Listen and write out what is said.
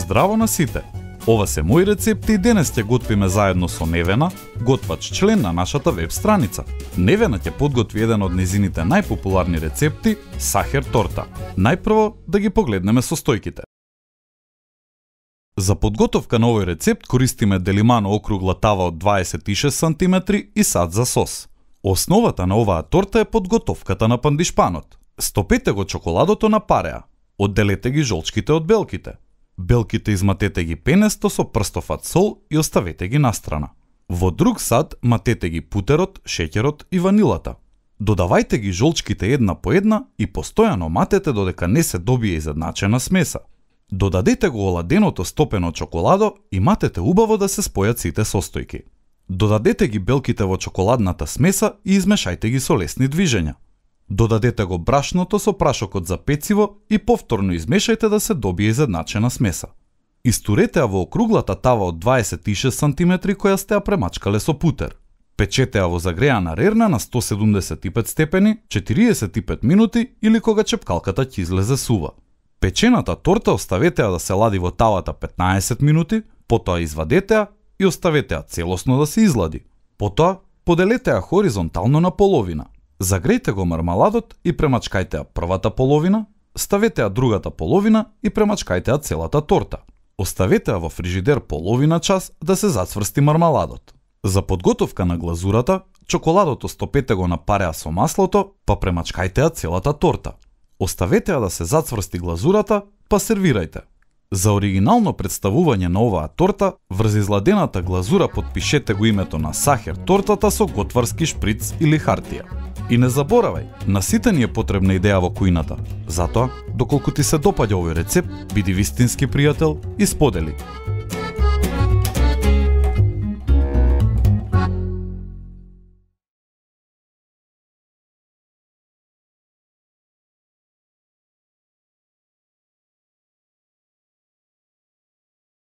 здраво на сите! Ова се мои рецепти и денес ќе готвиме заедно со Невена, готвач член на нашата веб страница. Невена ќе подготви еден од незините најпопуларни рецепти – сахер торта. Најпрво да ги погледнеме состојките. За подготовка на овој рецепт користиме делимано округла тава од 26 см и сад за сос. Основата на оваа торта е подготовката на пандишпанот. Стопете го чоколадото на пареа. Одделете ги жолчките од белките. Белките изматете ги пенесто со прстов сол и оставете ги настрана. Во друг сад матете ги путерот, шеќерот и ванилата. Додавајте ги жолчките една по една и постојано матете додека не се добие изедначена смеса. Додадете го оладеното стопено чоколадо и матете убаво да се спојат сите состојки. Додадете ги белките во чоколадната смеса и измешајте ги со лесни движења. Додадете го брашното со прашокот за пecivo и повторно измешајте да се добие изедначена смеса. Истурете ја во округлата тава од 26 см која сте ја премачкале со путер. Печете ја во загреана рерна на 175 степени 45 минути или кога чепкалката ќе излезе сува. Печената торта оставете ја да се лади во тавата 15 минути, потоа извадете ја и оставете ја целосно да се излади. Потоа поделете ја хоризонтално на половина. Загрејте го мармаладот и премачкајте ја првата половина, ставете ја другата половина и премачкајте ја целата торта. Оставете ја во фрижидер половина час да се зацврсти мармаладот. За подготовка на глазурата, чоколадото стопете го на пареа со маслото, па премачкајте ја целата торта. Оставете ја да се зацврсти глазурата, па сервирајте. За оригинално представување на оваа торта, врз изладената глазура потпишете го името на сахер тортата со готварски шприц или хартија. И не заборавај, на сите ни е потребна идеја во кујната. Затоа, доколку ти се допаѓа овој рецепт, биди вистински пријател и сподели.